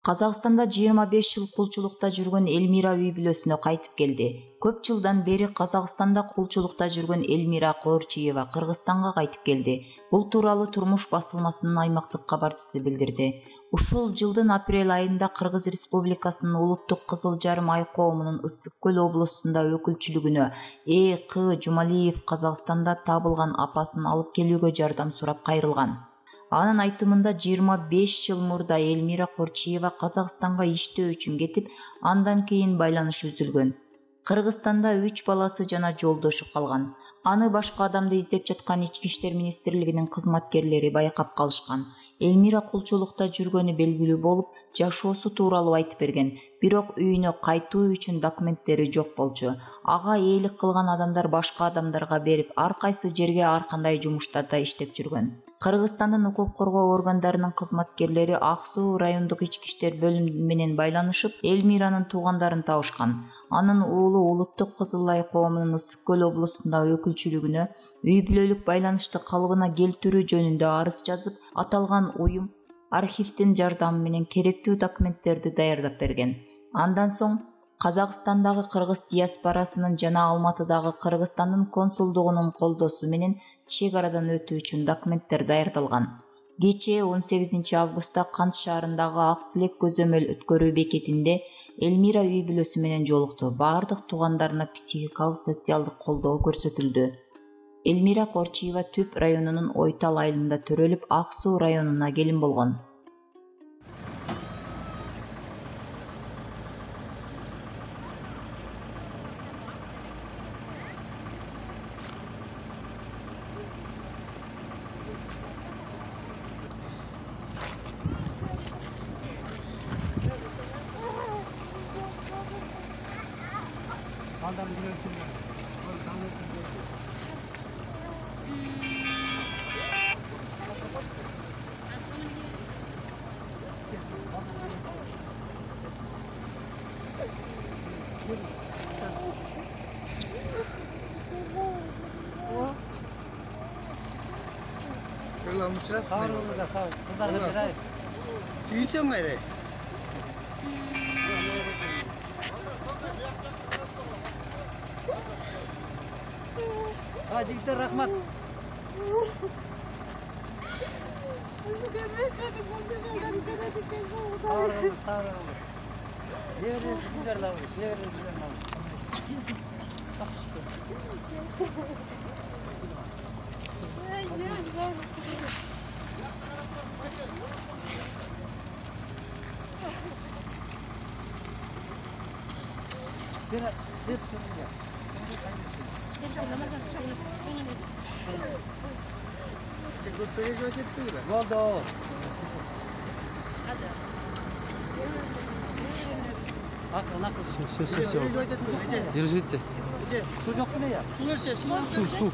Казакстанда 25 жыл кулчулукта жүргөн Элмира үй-бүлөсүнө кайтып келди. Көп жылдан бери Казакстанда кулчулукта жүргөн Элмира Коорчиева Кыргызстанга кайтып келди. Бул тууралуу Турмуш басылмасынын аймактык кабарчысы билдирди. Ушул жылдын апрель айында Кыргыз Республикасынын Улуттук Кызыл Жарым ай коомунун Ысык Көл облусунда өкүлчүлүгүнө К. Жумалиев Казакстанда табылган апасын алып келүүгө жардам сурап кайрылган. Анын айтымында 25 жыл мурда Элмира Коорчиева Казакстанга иштөө үчүн кетип, андан кийин байланыш үзүлгөн. Кыргызстанда 3 баласы жана жолдошу калган. Аны башка адамды издеп жаткан Ички иштер министрлигинин кызматкерлери байкап калышкан. Элмира кулчулукта жүргөнү белгилүү болуп, жашоосу тууралуу айтып берген. Бирок үйүнө кайтуу үчүн документтери жок болчу. Ага ээлик кылган адамдар башка адамдарга берип, ар кайсы жерге ар кандай жумуштарда иштеп жүргөн. Кыргызстандын укук коргоо органдарынын кызматкерлери Ак Суу райондук ички иштер бөлүмү менен байланышып, Элмиранын туугандарын табышкан. Анын уулу Улуттук Кызыл Ай коомунун Ысык Көл облусунда өкүлчүлүгүнө үй-бүлөлүк байланышты калыбына келтирүү жөнүндө арыз жазып, аталган уюм архивдин жардамы менен керектүү документтерди даярдап берген. Андан соң Казакстандагы кыргыз диаспорасынын жана Алматыдагы Кыргызстандын консулдугунун колдоосу менен чек арадан өтүү үчүн документтер даярдалган. Кечээ 18 августта Кант шаарындагы Ак Тилек көзөмөл өткөрүү бекетинде Элмира үй-бүлөсү менен жолукту. Бардык туугандарына психикалык социалдык колдоо көрсөтүлдү. Элмира Коорчиева Түп районунун Ойтал айылында төрөлүп, Ак Суу районуна келин болгон. Сүйсем кайра. Жигиттер, рахмат. Болду. Все. Держите. Су жок беле я? Су.